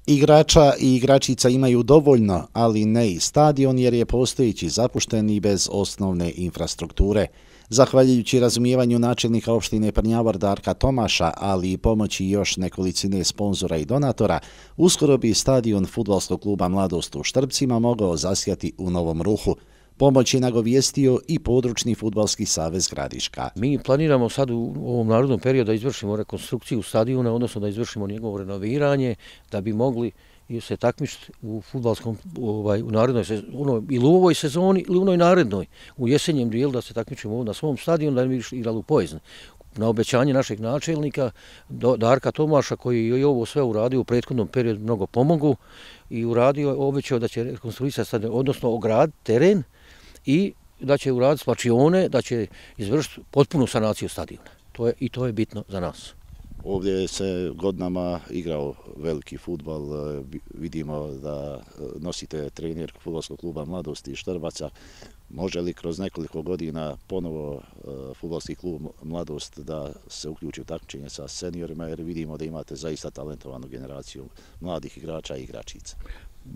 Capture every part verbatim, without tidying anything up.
Igrača i igračica imaju dovoljno, ali ne i stadion jer je postojeći zapušten i bez osnovne infrastrukture. Zahvaljujući razumijevanju načelnika opštine Prnjavor Darka Tomaša, ali i pomoći još nekolicine sponzora i donatora, uskoro bi stadion fudbalskog kluba Mladost u Štrbcima mogao zasjati u novom ruhu. Pomoć je nagovijestio i područni fudbalski savez Gradiška. Mi planiramo sad u ovom narodnom periodu da izvršimo rekonstrukciju stadiona, odnosno da izvršimo njegovo renoviranje, da bi mogli se takmičiti u fudbalskom, ovaj, u narednoj sezoni, ili u ovoj sezoni, ili u onoj narednoj, u jesenjem dijelu da se takmičimo na svom stadionu, da ne bi igrali u Pojezni. Na obećanje našeg načelnika Darka Tomaša, koji je ovo sve uradio u prethodnom periodu, mnogo pomogu i uradio, obećao da će rekonstruisati stadion, odnosno ograditi teren i da će uraditi slačione, da će izvršiti potpunu sanaciju stadiona. To je, i to je bitno za nas. Ovdje se godinama igrao veliki fudbal, vidimo da nosite trener fudbalskog kluba Mladosti i Štrbaca. Može li kroz nekoliko godina ponovo fudbalski klub Mladost da se uključi u takmičenje sa seniorima, jer vidimo da imate zaista talentovanu generaciju mladih igrača i igračica?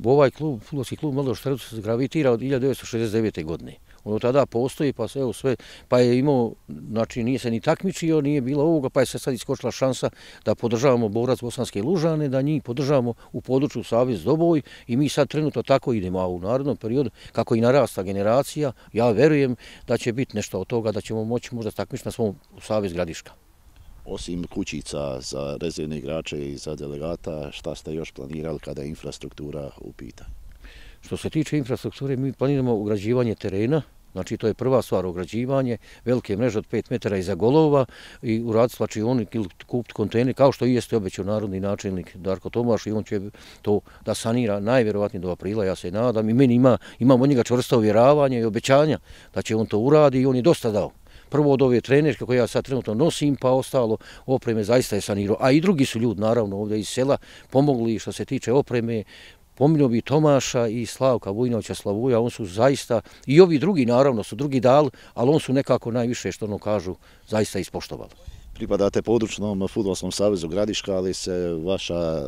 Ovaj klub, fudbalski klub Mladost Štrbca se gravitira od hiljadu devetsto šezdeset devete. godine. Ono tada postoji, pa se evo sve, pa je imao, znači nije se ni takmičio, nije bilo ovoga, pa je se sad iskočila šansa da podržavamo Borac Bosanske Lužane, da njih podržavamo u području Savez Doboj i mi sad trenutno tako idemo, a u narodnom periodu, kako i narasta generacija, ja verujem da će biti nešto od toga, da ćemo moći možda takmičiti na svom Savez Gradiška. Osim kućica za rezervne igrače i za delegata, šta ste još planirali kada je infrastruktura u pitanju? Što se tiče infrastrukture, mi planiramo ugrađivanje terena, znači to je prva stvar, ugrađivanje, velike mreže od pet metara iza golova i uraditi slačioni ili kupiti kontejner, kao što i jeste obećao narodni načelnik Darko Tomaš i on će to da sanira najvjerovatnije do aprila, ja se nadam. I meni ima, imam od njega čvrsto uvjeravanje i obećanja da će on to uradi i on je dosta dao. Prvo od ove trenerke koje ja sad trenutno nosim, pa ostalo opreme zaista je sanirao. A i drugi su ljudi, naravno, ovdje iz sela pomogli što se tiče opreme. Pominjao bi Tomaša i Slavka Vujnovića Slavuja, on su zaista, i ovi drugi naravno su drugi dali, ali on su nekako najviše, što ono kažu, zaista ispoštovali. Pripadate područnom fudbalskom savezu Gradiška, ali se vaša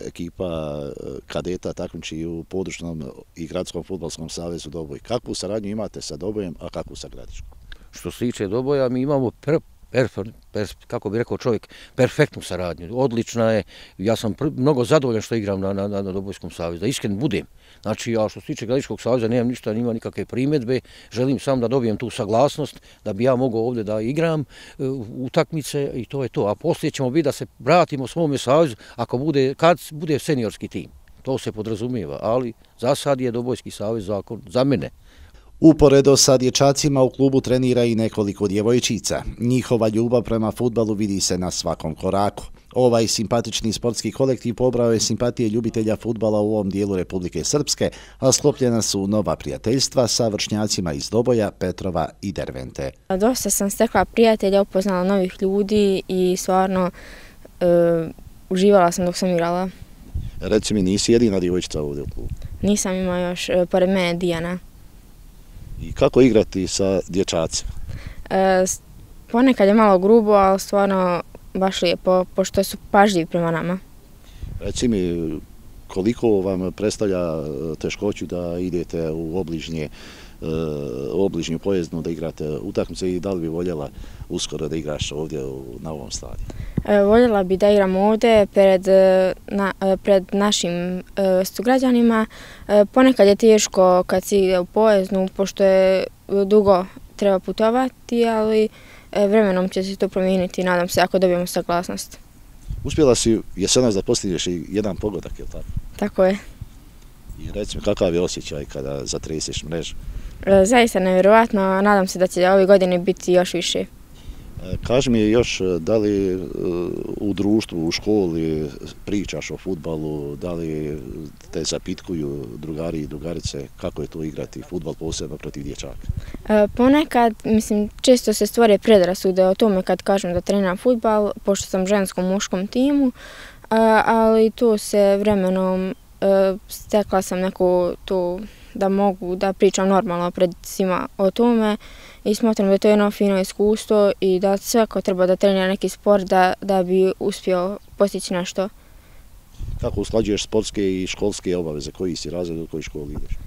ekipa kadeta takmiči u područnom i gradskom fudbalskom savezu Doboj. Kakvu saradnju imate sa Dobojem, a kakvu sa Gradiškom? Što se tiče Doboja, mi imamo pr Perfer, per, kako bi rekao čovjek, perfektnu saradnju. Odlična je, ja sam pr mnogo zadovoljan što igram na, na, na Dobojskom savezu, da iskren budem. Znači, ja što se tiče Gradiškog saveza nemam ništa, nima nikakve primjedbe, želim sam da dobijem tu saglasnost, da bi ja mogao ovdje da igram uh, utakmice i to je to. A poslije ćemo biti da se vratimo svome savezu ako bude, kad bude seniorski tim. To se podrazumijeva, ali za sad je Dobojski savez zakon za mene. Uporedo sa dječacima u klubu trenira i nekoliko djevojčica. Njihova ljubav prema fudbalu vidi se na svakom koraku. Ovaj simpatični sportski kolektiv pobrao je simpatije ljubitelja fudbala u ovom dijelu Republike Srpske, a sklopljena su nova prijateljstva sa vršnjacima iz Doboja, Petrova i Dervente. Dosta sam stekla prijatelja, upoznala novih ljudi i stvarno e, uživala sam dok sam igrala. Reci mi, nisi jedina djevojčica ovdje u klubu? Nisam, ima još e, pored mene Dijana. I kako igrati sa dječacima? E, ponekad je malo grubo, ali stvarno baš lijepo, pošto su pažljivi prema nama. Reci mi, koliko vam predstavlja teškoću da idete u obližnje, u obližnju Pojeznu, da igrate utakmice i da li bi voljela uskoro da igraš ovdje na ovom stadionu? E, voljela bi da igram ovdje pred, na, pred našim e, sugrađanima. E, ponekad je teško kad si ide u Pojeznu, pošto je dugo treba putovati, ali e, vremenom će se to promijeniti, nadam se, ako dobijemo saglasnost. Uspjela si jesenas da postigneš i jedan pogodak, je li tako? Tako je. I reci mi, kakav je osjećaj kada zatreseš mrežu? E, zaista nevjerovatno, nadam se da će ove godine biti još više. Kaži mi još, da li u društvu, u školi pričaš o fudbalu, da li te zapitkuju drugari i drugarice kako je to igrati fudbal, posebno protiv dječaka? E, ponekad, mislim, često se stvore predrasude o tome kad kažem da treniram fudbal, pošto sam u ženskom muškom timu, a, ali to se vremenom e, stekla sam neku tu da mogu da pričam normalno pred svima o tome i smatram da je to jedno fino iskustvo i da svako treba da trenira neki sport da, da bi uspio postići nešto. Kako usklađuješ sportske i školske obaveze? Koji si razred, u kojoj školi ideš?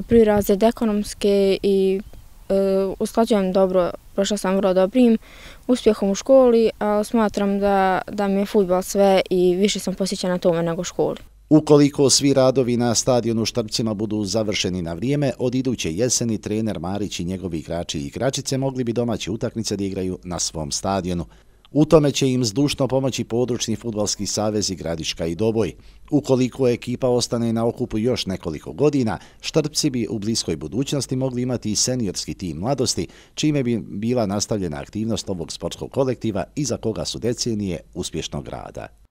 Prvi razred ekonomske i e, usklađujem dobro, prošla sam vrlo dobrim uspjehom u školi, ali smatram da, da mi je fudbal sve i više sam posjećena tome nego školi. Ukoliko svi radovi na stadionu u Štrpcima budu završeni na vrijeme, od iduće jeseni trener Marić i njegovi igrači i igračice mogli bi domaće utakmice da igraju na svom stadionu. U tome će im zdušno pomoći područni fudbalski savez i Gradiška i Doboj. Ukoliko ekipa ostane na okupu još nekoliko godina, Štrpci bi u bliskoj budućnosti mogli imati i seniorski tim mladosti, čime bi bila nastavljena aktivnost ovog sportskog kolektiva iza koga su decenije uspješnog rada.